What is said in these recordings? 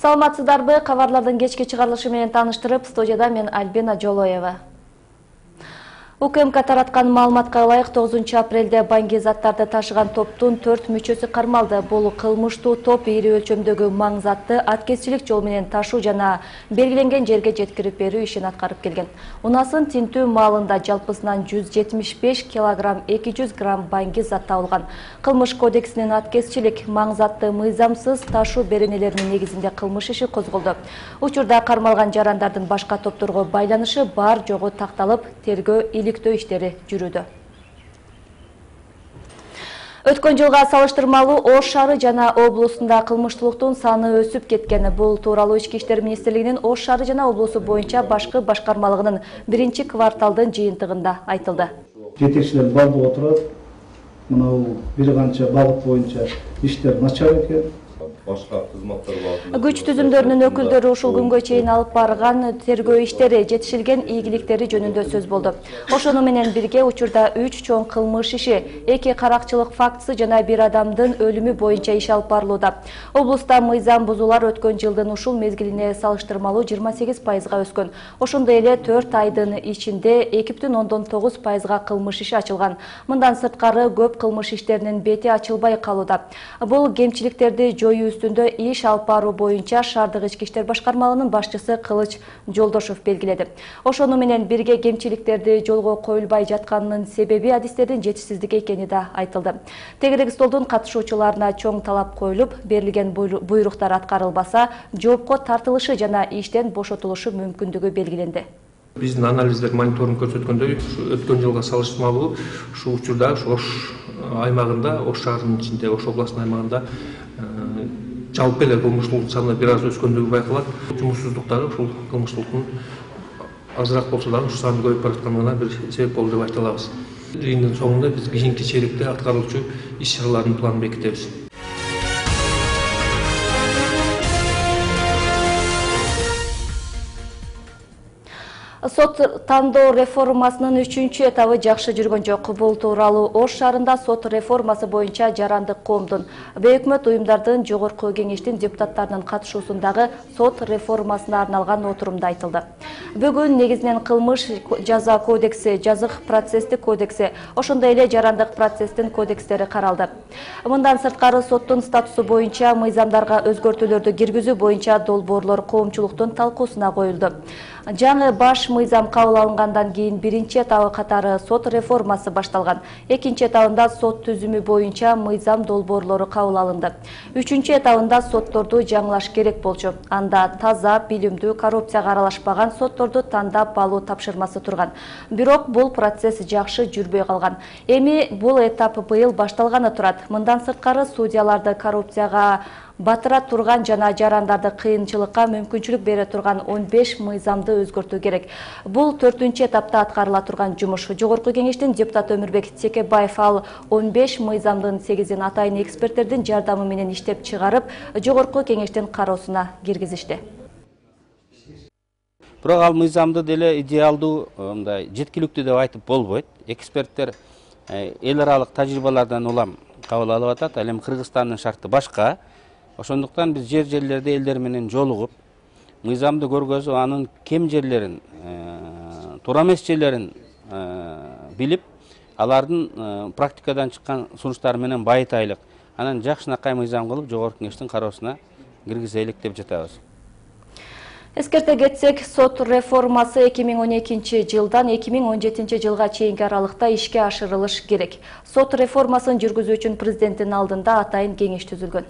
Саламатсыздарбы? Кабарлардын кечки чыгарылышы менен тааныштырып, студияда мен Альбина Жолоева. УКМК тараткан маалыматка ылайык 9 апрелде банги заттарды ташыган топтун 4 мүчөсү кармалды. Бул кылмыштуу топ ири өлчөмдөгү маң затты аткезчилик жол менен ташуу жана белгиленген жерге жеткирип берүү ишин аткарып келген. Унасын тинтүү маалында жалпысынан 175 кг 200 грамм банги зат табылган. Кылмыш кодексинин аткезчилик маң затты мыйзамсыз ташуу беренелеринин негизинде кылмыш иши козголду. Учурда кармалган жарандардын башка топторго байланышы бар жогу такталып, тергөө иликтөө иштери жүрүүдө. Өткөн жылга салыштырмалуу Ош шаары жана облусунда кылмыштуулуктун саны өсүп кеткен. Бул тууралуу Ички иштер министрлигинин Ош шаары жана облусу боюнча башкы башкармалыгынын 1-кварталдын жыйынтыгында айтылды. Жетекчилер балдып отурат. Мынау бир канча багыт боюнча иштер начар экен. Башка кызматтар бар. Күч түзүмдөрүнүн өкүлдөрү ушул күнгө чейин алып барган тергөө иштери, жетишилген ийгиликтери жөнүндө сөз болду. Ошону менен бирге учурда 3 чоң кылмыш иши, 2 каракчылык фактысы жана 1 адамдын өлүмү боюнча иш алып барылууда. Облуста мыйзам бузуулар өткөн жылдын ушул мезгилине салыштырмалуу 28%га өскөн. Ошондой эле 4 айдын ичинде 2,9%га кылмыш иши ачылган. Мындан сырткары көп кылмыш иштеринин бети ачылбай калууда. Бул кемчиликтерди жоюу үстүндө иш алып баруу боюнча шаардык ички иштер башкармалыгынын башчысы Кылыч Жолдошов белгиледи. Ошону менен бирге кемчиликтерди жолго коюлбай жатканынын себеби адистердин жетишсиздиги экени да айтылды. Тегерек столдун катышуучуларына чоң талап коюлуп, берилген буйруктар аткарылбаса, жоопко тартылышы жана иштен бошотулушу мүмкүндүгү белгиленди. Биздин анализдер мониторинг көрсөткөндөй, өткөн жылга салыштырмалуу ушул учурда Ош аймагында, Ош шаарынын ичинде, Ош областынын аймагында жалпы эле кылмыштуулуктун саны бир аз өскөндүгү байкалат. Жумушсуздуктары ушул кылмыштуулуктун азыраак болсо дагы ушу саны көбөйүп баратканына бир себеп болду деп айта алабыз. Жыйындын соңунда биз кийинки чейректе аткарылчу иш-чаралардын планын бекитебиз. Сот тандоо реформасынын 3-чү этабы жакшы жүргөн жок. Бул тууралуу Ош шаарында сот реформасы боюнча жарандык коомдун, бейөкмөт уюмдардын, жогорку кеңештин депутаттарынын катышуусундагы сот реформасына арналган отурумда айтылды. Бүгүн негизинен кылмыш жаза кодекси, жазык процесстик кодекси, ошондой эле жарандык процесстин кодекстери каралды. Мындан сырткары соттун статусу боюнча мыйзамдарга өзгөртүүлөрдү киргизүү боюнча долбоорлор коомчулуктун талкуусуна коюлду. Жаңы баш мыйзам кабыл алынгандан кийин 1-чи этабы катары сот реформасы башталган. 2-чи этабында сот түзүмү боюнча мыйзам долбоорлору кабыл алынды. 3-чү этабында сотторду жаңылаш керек болчу. Анда таза, билимдүү, коррупцияга аралашпаган сотторду тандап алуу тапшырмасы турган. Бирок бул процесс жакшы жүрбөй калган. Эми бул этап быйыл башталганы турат. Мындан сырткары судьяларды коррупцияга батыра турган жана жарандарды кыйынчылыкка мүмкүнчүлүк бере турган 15 мыйзамды өзгөртүү керек. Бул 4-чү этапта аткарыла турган жумуш. Жогорку кеңештин депутаты Өмүрбек Текебаев ал 15 мыйзамдын 8-ин атайын эксперттердин жардамы менен иштеп чыгарып, жогорку кеңештин кароосуна киргизишти. Бирок ал мыйзамды деле идеалдуу, мындай жеткиликтүү деп айтып болбойт. Эксперттер эл аралык тажрыйбалардан улам кабыл алып атат. Ал эми Кыргызстандын шарты башка. Ошондуктан биз жерлерде элдер менен жолугуп, мыйзамды көргөзүп, анын кем жерлерин, туура эмес жерлерин билип, алардын практикадан чыккан сунуштары менен байытайлык. Анан жакшынакай мыйзам кылып, жогорку кеңештин кароосуна киргизелик деп жатабыз. Эскерте кетсек, сот реформасы 2012 жылдан 2017 жылга чейинки аралыкта ишке ашырылыш керек. Сот реформасын жүргүзүү үчүн президенттин алдында атайын кеңеш түзүлгөн.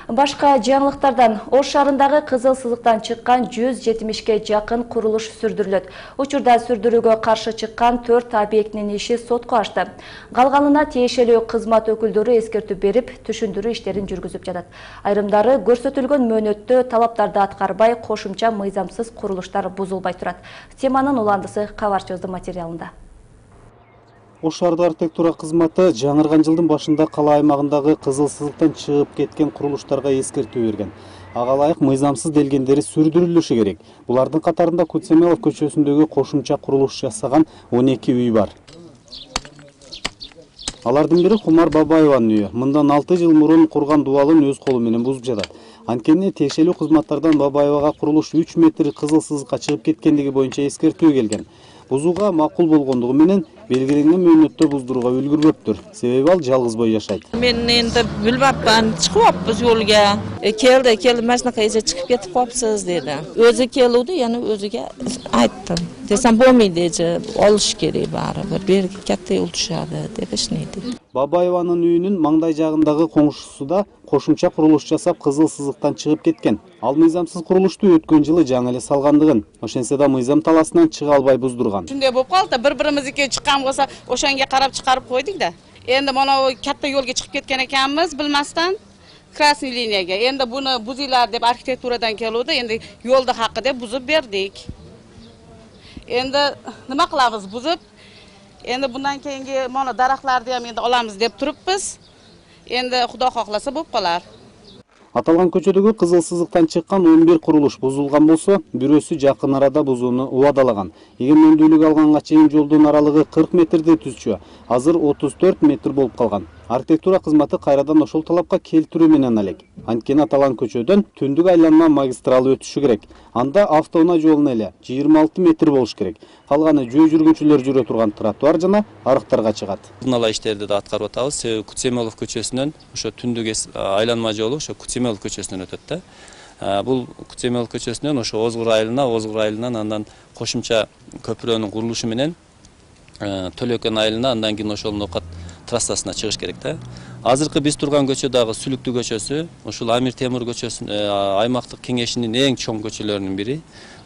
Башка жаңылыктардан Ош шаарындагы кызыл сызыктан чыккан 170ге жакын курулуш сүрдүрүлөт. Учурда сүрдүрүүгө каршы чыккан 4 объектинин иши сотко ашты. Калганына тиешелүү кызмат өкүлдөрү эскертүү берип, түшүндүрүү иштерин жүргүзүп жатат. Айрымдары көрсөтүлгөн мөөнөттө талаптарды аткарбай, кошумча мыйзамсыз курулуштар бузулбай турат. Теманын уландысы кабарчыбыздын материалында. Ош шаардык архитектура кызматы жаңырган жылдын башында кала аймагындагы кызыл сызыктан чыгып кеткен курулуштарга эскертүү берген. Ага ылайык мыйзамсыз делгендери сүрдүрүлүшү керек. Булардын катарында Кутсемелов көчөсүндөгү кошумча курулуш жасаган 12 үй бар. Алардын бири Кумар Бабаеванын үйү. Мындан 6 жыл мурун курган дубалын өз колу менен бузуп жатат. Анткени тиешелүү кызматтардан Бабаевага курулуш 3 метр кызыл сызыкка чыгып кеткендиги боюнча эскертүү келген. Бузууга макул болгондугу менен белгиленген мөөнөттө буздурууга үлгүрбөптүр. Себеби ал жалгыз бой жашайт. Мен энди билбапман, чыгыппыз жолго. Келди, машинага эже чыгып кетип калыпсыз деди. Өзү келди, яны өзүгө айттым. Десем болмойт эже, олуш керек баары бир. Берги катты ултушады деп эшнейди. Бабаеванын үйүнүн маңдай жагындагы коңшусу да кошумча курулуш жасап кызыл сызыктан чыгып кеткен. Ал мыйзамсыз курулушту өткөн жылы жаңы эле салгандыгын, ошентсе да мыйзам таласынан чыга албай буздурган. Ушундай болуп калды, бири-биримизге чыккан болсо, ошонго карап чыгарып койдук да. Энди мына катта жолго чыгып кеткен экенбиз билмастан красный линияга. Энди буну бузуйлар деп архитектурадан келди, энди жолду хакы деп бузуп бердик. Энди нема кылабыз бузуп? Энди bundan keyingi mana daraxtlarni ham endi olamiz deb turibmiz. Endi Xudo xohlasa bo'lib qolar. Аталган көчөдөгү кызыл сызыктан чыккан 11 курулуш бузулган болсо, бирөөсү жакын арада бузууну убадалаган. Эгемендүүлүк алганга чейин жолдун аралыгы 40 метрди түзчү, азыр 34 метр болуп калган. Архитектура кызматы кайрадан ошол талапка келтирүү менен алек. Анткени аталган көчөдөн түндүк айланма магистралы өтүшү керек. Анда автоунаа жолуна эле 26 метр болуш керек. Калганы жөө жүргүнчүлөр жүрө турган тротуар жана арыктарга чыгат. Мына иштерди да аткарып атабыз. Себеби Кутсемелов көчөсүнөн ошо түндүк айланма жолу ошо Кутсемелов көчөсүнөн өтөт да. Бул Кутсемелов көчөсүнөн ошо Озгур айылынан андан кошумча көпүрөнүн курулушу менен Төлөкөн айылына андан кийин ошол нокат трассасына чыгыш керек да. Азыркы биз турган көчө дагы Сүлүктүү көчөсү, ушул Амир Темур көчөсү аймактык кеңешинин эң чоң көчөлөрүнүн бири.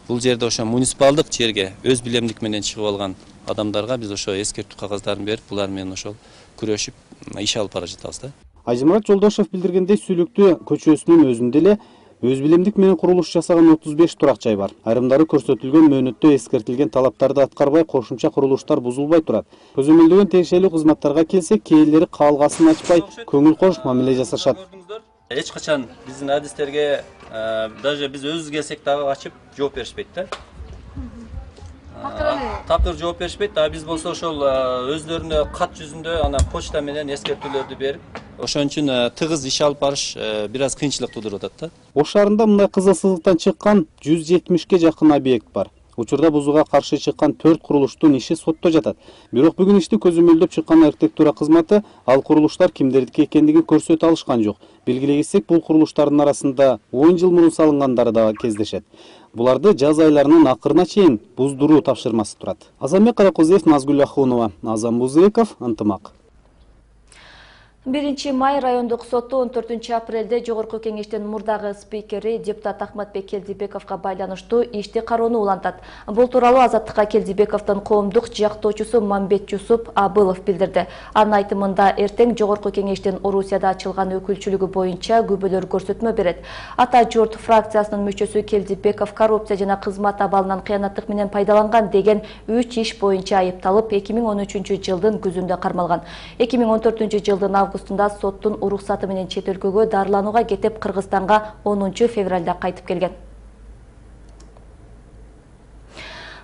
Бул жерде ошо муниципалдык жерге өз билемдик менен чыгып алган адамдарга биз ошо эскертүү кагаздарын берип, булар менен ошол күрөшүп иш алып бара жатабыз да. Ажымурат Жолдошев билдиргендей, Сүлүктүү көчөсүнүн өзүндө эле өз билемдик менен курулуш жасаган 35 турак жай бар. Айрымдары көрсөтүлгөн мөөнөттө эскертилген талаптарды аткарбай, кошумча курулуштар бузулбай турат. Көзөмөлдөгөн тиешелүү кызматтарга келсек, кээрлери каалгасын ачпай, көңүл кош мамиле жасашат. Эч качан биздин адистерге даже биз өзүбүз келсек дагы ачып жооп беришпейт да. Такыр жооп беришпейт, а биз болсо ошол өздөрүнө кат жүзүндө анан почта менен эскертүүлөрдү берип, ошон үчүн тыгыз иш алып барыш бир аз кыйынчылык туудуруп атат да. Ош шаарында мындай кызыл сызыктан чыккан 170ге жакын объект бар. Учурда бузууга каршы чыккан 4 курулуштун иши сотто жатат. Бирок бүгүн ишти көзөмөлдөп чыккан архитектура кызматы ал курулуштар кимдердики экендигин көрсөтө алышкан жок. Белгилегесек, бул курулуштардын арасында 10 жыл мурун салынгандары да кездешет. Буларды жаз айларынын акырына чейин буздуруу тапшырмасы турат. Азамбек Каракозиев, Назгүл Ахунова, Азам Бузыков, Ынтымак. 1 май райондук соту 14 апрелде Жогорку кеңештин мурдагы спикери депутат Ахматбек Келдибековго байланыштуу ишти кароону улантат. Бул тууралуу Азаттыкка Келдибековдун коомдук жактоочусу Мамбет Жусуп Абылов билдирди. Анын айтымында эртең Жогорку кеңештин Орусияда ачылган өкүлчүлүгү боюнча күбөлөр көрсөтмө берет. Ата журт фракциясынын мүчөсү Келдибеков коррупция жана кызмат абалынан кыянаттык менен пайдаланган деген 3 иш боюнча айыпталып 2013 жылдын күзүндө кармалган. 2014 жылдын августунда соттун уруксаты менен чет өлкөгө дарыланууга кетип Кыргызстанга 10 февралда кайтып келген.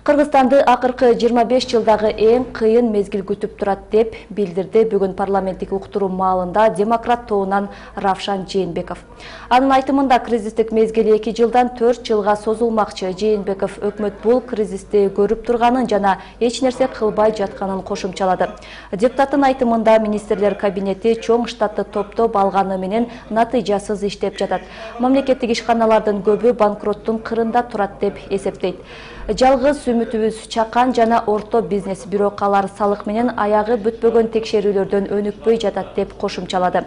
Кыргызстанды акыркы 25 жылдагы эң кыйын мезгил күтүп турат деп билдирди бүгүн парламенттик уктуруу маалында демократ тобунан Равшан Жээнбеков. Анын айтымында кризистик мезгил 2 жылдан 4 жылга созулмакчы. Жээнбеков өкмөт бул кризисти көрүп турганын жана эч нерсе кылбай жатканын кошумчалады. Депутаттын айтымында министрлер кабинети чоң штатты топтоп алганы менен натыйжасыз иштеп жатат. Мамлекеттик ишканалардын көбү банкроттун кырында турат деп эсептейт. Жалгыз үмүтүбүз чакан жана орто бизнес, бирок алар салык менен аягы бүтпөгөн текшерүүлөрдөн өнүкпөй жатат деп кошумчалады.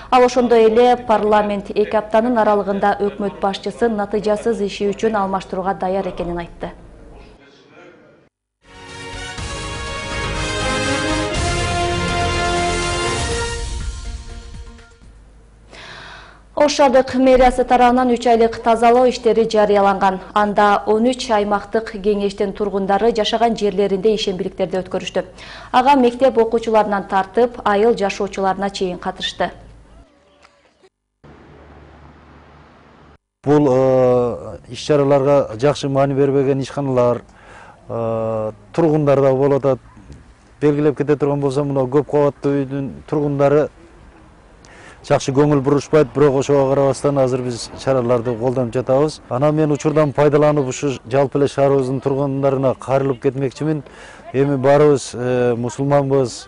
Ал ошондой эле парламент 2 аптанын аралыгында өкмөт башчысын натыйжасыз иши үчүн алмаштырууга даяр экенин айтты. Ош шаардык мэриясы тарабынан 3 айлык тазалоо иштери жарыяланган. Анда 13 аймактык кеңештин тургундары жашаган жерлеринде ишембиликтерди өткөрүштү. Ага мектеп окуучуларынан тартып, айыл жашоочуларына чейин катышты. Бул иш-чараларга жакшы маани бербеген ишканалар, тургундар да болуп атат. Белгилеп кете турган болсом, мына көп кабаттуу үйдүн тургундары жакшы көңүл бурушпайт, бирок ошого карабастан азыр биз чараларды колдонуп жатабыз. Анан мен учурдан пайдаланып ушу жалпы эле шаарыбыздын тургундарына кайрылып кетмекчимин. Эми баарыбыз мусулманбыз,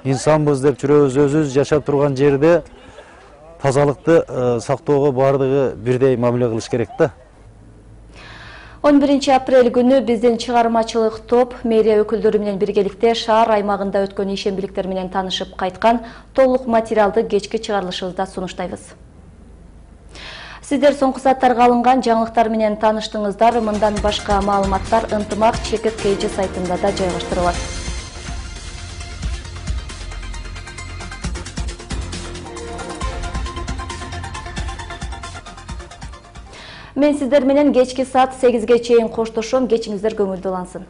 инсанбыз деп жүрөбүз. Өзүбүз жашап турган жерде тазалыкты сактоого баардыгы бирдей мамиле кылыш керек да. 11 апрель күнү биздин чыгармачылык топ мэрия өкүлдөрү менен биргеликте шаар аймагында өткөн ишембиликтер менен таанышып кайткан. Толук материалды кечки чыгарылышыбызда сунуштайбыз. Сиздер соңку сааттарга алынган жаңылыктар менен тааныштыңыздар. Мындан башка маалыматтар ынтымак ЧКК сайтында да жайгаштырылат. Мен сиздер менен кечки саат 8ге чейин коштошом. Кечиңиздер көңүлдүү улансын.